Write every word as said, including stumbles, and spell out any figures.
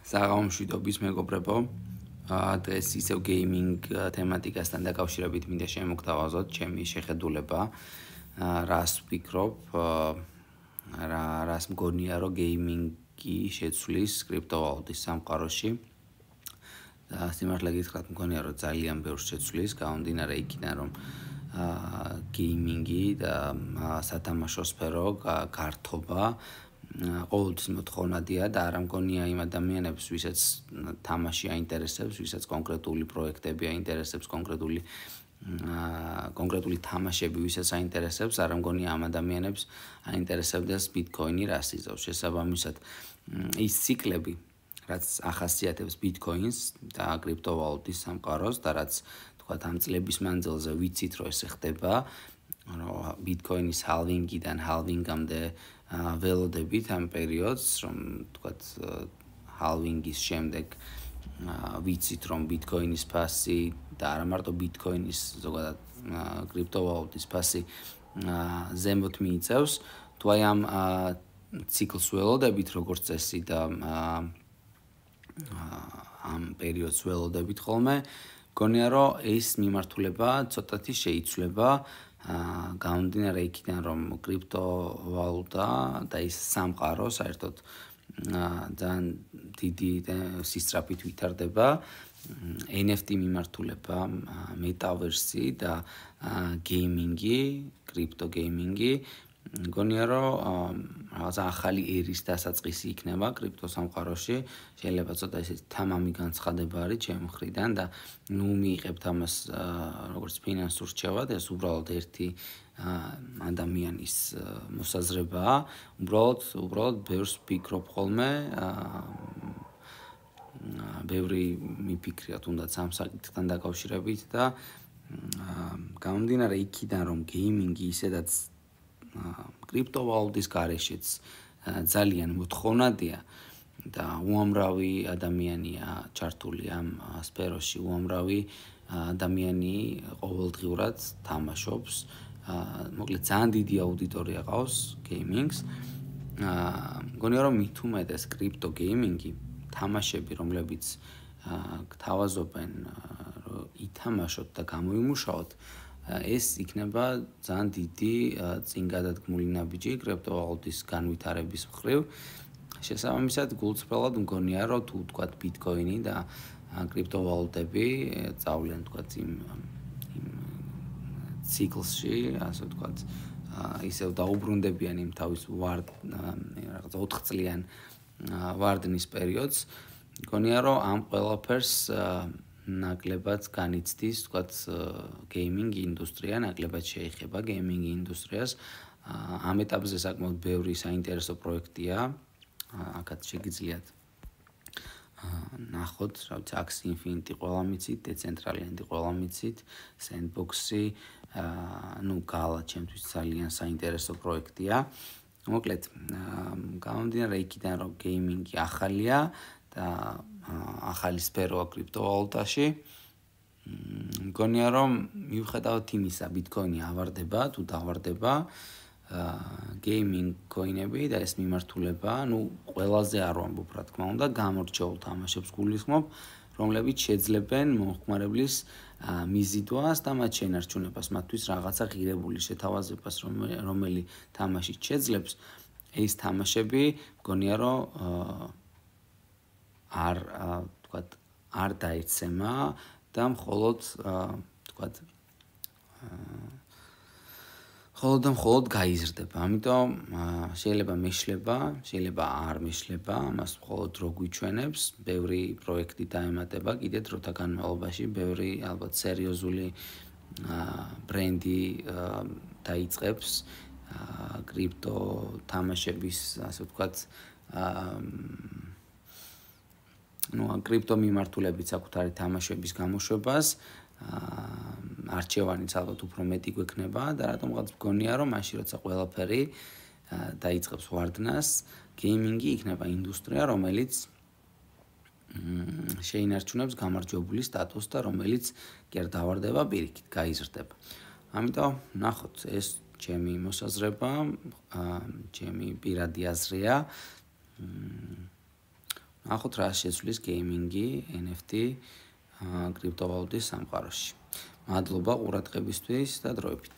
საღამომშვიდობის მეგობრებო, დღეს ისევ გეიმინგ თემატიკასთან დაკავშირებით მინდა შემოგთავაზოთ ჩემი შეხედულება, რას ვფიქრობ, რა რას მგონია, რომ გეიმინგი შეცვლის კრიპტოვალუტის სამყაროში. და სიმართლე გითხრათ, მგონია, რომ ძალიან ბევრს შეცვლის, გამომდინარე იქიდან, რომ გეიმინგი და სათამაშო სფერო გართობა ყოველთვის მოთხოვნადია და არ მგონია იმ ადამიანებს, ვისაც თამაში აინტერესებს, ვისაც კონკრეტული პროექტები აინტერესებს, კონკრეტული კონკრეტული თამაშები, ვისაც აინტერესებს, არ მგონია ამ ადამიანებს აინტერესებდეს ბიტკოინი რას იზავს. შესაბამისად, ის ციკლები, რაც ახასიათებს ბიტკოინს და კრიპტოვალუტის სამყაროს და რაც თქვათ ამ წლების მანძილზე ვიცით, რომ ეს ხდება, რომ ბიტკოინის ჰალვინგიდან ჰალვინგამდე ველოდებით ამ პერიოდს, რომ თქვათ ჰალვინგის შემდეგ ვიცით, რომ ბიტკოინის ფასი და არა მარტო ბიტკოინის, ზოგადად კრიპტოვალუტის ფასი ზემოთ მიიწევს, თუ აი ამ ციკლს ველოდებით, როგორც წესი და ამ პერიოდს ველოდებით ხოლმე, მგონია, რომ ეს მიმართულება ცოტათი შეიცვლება, გამომდინარე იქიდან, რომ კრიპტოვალუტა და ის სამყარო საერთოდ ძალიან დიდი სისწრაფით ვითარდება, ენ ეფ ტი მიმართულება, მეტავერსი და გეიმინგი, კრიპტო გეიმინგი, მგონია, რომ რაღაცა ახალი ერის დასაწყისი იქნება კრიპტო სამყაროში. შეიძლება ცოტა ისეთი თამამი განცხადება არის ჩემი მხრიდან და ნუ მიიღებთ ამას როგორც ფინანსურ რჩევად, ეს უბრალოდ ერთი ადამიანის მოსაზრებაა. უბრალოდ, უბრალოდ ბევრს ვფიქრობ ხოლმე, ბევრი მიფიქრია თუნდაც ამ საკითხთან დაკავშირებით და გამომდინარე იქიდან, რომ გეიმინგი ისედაც კრიპტოვალუტის გარეშეც ძალიან მოთხოვნადია და უამრავი ადამიანია ჩართული ამ სფეროში, უამრავი ადამიანი ყოველდღიურად თამაშობს, მოკლედ ძალიან დიდი აუდიტორია ყავს გეიმინგს. მგონია, რომ მით უმეტეს კრიპტო გეიმინგი, თამაშები, რომლებიც გთავაზობენ, რომ ითამაშოთ და გამოიმუშაოთ, ეს იქნება ძალიან დიდი წინგადადგმული ნაბიჯი კრიპტოვალუტის განვითარების მხრივ. შესაბამისად, გულწრფელად მგონია, რომ თუ თქვათ ბიტკოინი და კრიპტოვალუტები წავლენ თქვათ იმ იმ ციკლში, ასე ვთქვათ, ისევ დაუბრუნდებიან იმ თავის ვარ რაღაც ოთხ წლიან ვარდნის პერიოდს, მგონია, რომ ამ ყველაფერს ნაკლებად განიცდის, თქვათ, გეიმინგ ინდუსტრია, ნაკლებად შეეხება გეიმინგ ინდუსტრიას. ამ ეტაპზე საკმაოდ ბევრი საინტერესო პროექტია, აქაც შეგიძლიათ ნახოთ, რა ვიცი, Axie Infinity ყველა მიცით, Decentraland ყველა მიცით, Sandbox-ი, ნუ Gala ჩემთვის ძალიან საინტერესო პროექტია. მოკლედ, გამომდინარე იქიდან, რომ გეიმინგი ახალია და ახალი სფეროა კრიპტოვალუტაში, მგონია, რომ მიუხედავად იმისა, ბიტკოინი ავარდება, თუ დავარდება, გეიმინგ კოინები და ეს მიმართულება, ნუ ყველაზე არ ვამბობ, რა თქმა უნდა, გამორჩეულ თამაშებს გულისხმობ, რომლებიც შეძლებენ მომხმარებლის მიზიდვას და მათ შენარჩუნებას, მათთვის რაღაცა ღირებული შეთავაზებას, რომელი თამაშიც შეძლებს, ეს თამაშები მგონია, რომ არ თქვათ არ დაეცემა და მხოლოდ თქვათ მხოლოდ და მხოლოდ გაიზრდება. ამიტომ შეიძლება მეშლება, შეიძლება არ მეშლება, ამას მხოლოდ რო გვიჩვენებს, ბევრი პროექტი დაემატება კიდე დროთა განმავლობაში, ბევრი ალბათ სერიოზული ბრენდი დაიწყებს კრიპტო თამაშების, ასე ვთქვათ, ну, კრიპტო მიმართულებით საკუთარი თამაშების გამოშვებას, არჩევანიც ალბათ უფრო მეტი გვექნება და რატომღაც მგონია, რომ მაშინ როცა ყველაფერი დაიწყებს ვარდნას, გეიმინგი იქნება ინდუსტრია, რომელიც შეინარჩუნებს გამარჯვებული სტატუსს და რომელიც კი არ დავარდება, პირიქით გაიზრდება. ამიტომ ნახოთ, ეს ჩემი მოსაზრება, ჩემი პირადი აზრია. ნახოთ რა შეცვლის გეიმინგი, ენ ეფ ტი, კრიპტოვალუტის სამყაროში. მადლობა ყურადღებისთვის და დროებით.